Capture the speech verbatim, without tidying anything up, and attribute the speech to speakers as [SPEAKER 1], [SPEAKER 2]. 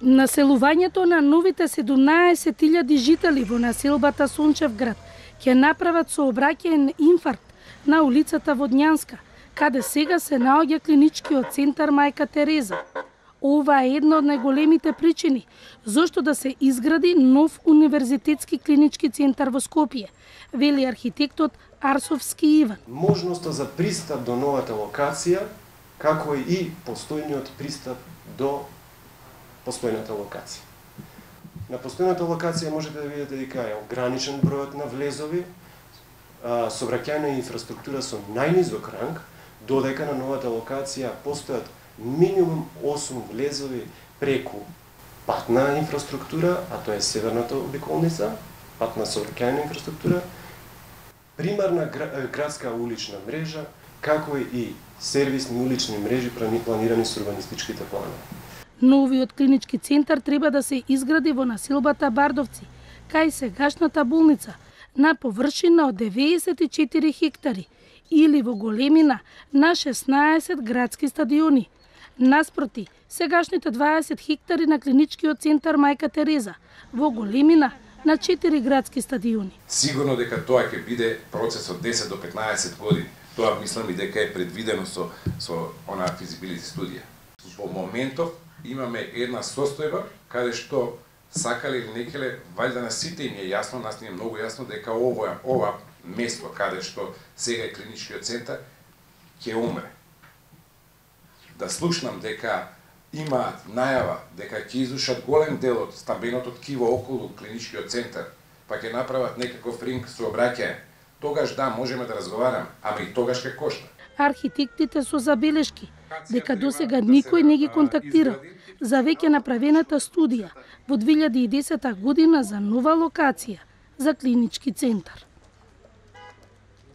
[SPEAKER 1] Населувањето на новите седумнаесет илјади жители во населбата Сончевград ќе направат сообраќаен инфаркт на улицата Водњанска, каде сега се наоѓа клиничкиот центар Мајка Тереза. Ова е една од најголемите причини зошто да се изгради нов универзитетски клинички центар во Скопје, вели архитектот Арсовски Иван.
[SPEAKER 2] Можноста за пристап до новата локација, како и постојниот пристап до постојната локација. На постојната локација можете да видите дека е ограничен бројот на влезови, сообраќајна инфраструктура со најнизок ранг, додека на новата локација постојат минимум осум влезови преку патна инфраструктура, а тоа е северната обиколница, патна сообраќајна инфраструктура, примарна градска улична мрежа, како и сервисни улични мрежи планирани со урбанистичките планови.
[SPEAKER 1] Новиот клинички центар треба да се изгради во населбата Бардовци, кај сегашната болница, на површина од деветдесет и четири хектари или во големина на шеснаесет градски стадиони. Наспроти, сегашните дваесет хектари на клиничкиот центар Мајка Тереза, во големина на четири градски стадиони.
[SPEAKER 3] Сигурно дека тоа ќе биде процес од десет до петнаесет години. Тоа мислам и дека е предвидено со со онаа физибилити студија. Во моментов имаме една состојба каде што сакале или некеле, валјда на сите им е јасно, нас ни е многу јасно дека ова ова место каде што сега е клиничкиот центар ќе умре. Да слушнам дека има најава дека ќе изрушат голем дел од стамбеното ткиво околу клиничкиот центар, па ќе направат некаков ринг сообраќај, тогаш да, можеме да разговараме, ама и тогаш ќе кошта.
[SPEAKER 1] Архитектите со забелешки дека досега никој не ги контактирал за веќе направената студија во две илјади и десета година за нова локација за клинички центар.